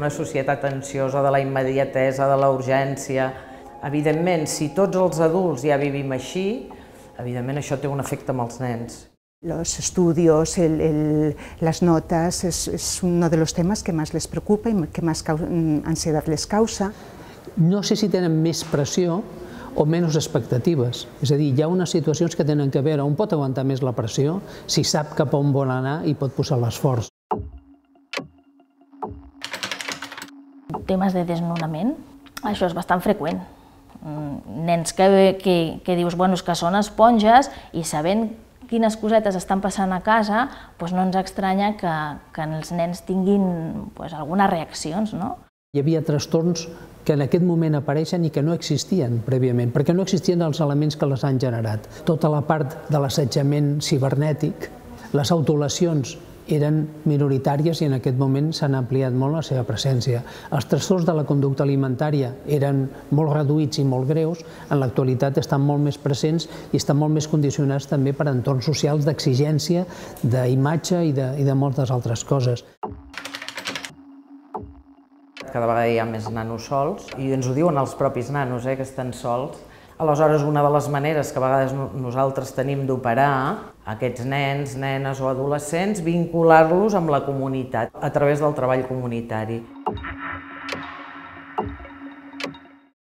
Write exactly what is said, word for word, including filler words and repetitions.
una societat ansiosa de la immediatesa, de la urgència. Evidentment, si tots els adults ja vivim així, evidentment això té un efecte amb els nens. Los estudios, el, el, las notas, es, es uno de los temas que más les preocupa y que más ansiedad les causa. No sé si tenen més pressió o menys expectatives. És a dir, hi ha unes situacions que tenen que veure on pot aguantar més la pressió, si sap cap on vol anar i pot posar l'esforç. Temes de desnonament, això és bastant freqüent. Nens que, que, que dius bueno, que són esponges i sabent quines cosetes estan passant a casa, doncs no ens estranya que, que els nens tinguin doncs, algunes reaccions, no? Hi havia trastorns que en aquest moment apareixen i que no existien prèviament, perquè no existien els elements que les han generat. Tota la part de l'assetjament cibernètic, les autolesions eren minoritàries i en aquest moment s'han ampliat molt la seva presència. Els trastorns de la conducta alimentària eren molt reduïts i molt greus, en l'actualitat estan molt més presents i estan molt més condicionats també per entorns socials d'exigència, d'imatge i de, i de moltes altres coses. Cada vegada hi ha més nanos sols i ens ho diuen els propis nanos, eh, que estan sols. Aleshores, una de les maneres que a vegades nosaltres tenim d'operar aquests nens, nenes o adolescents, vincular-los amb la comunitat a través del treball comunitari.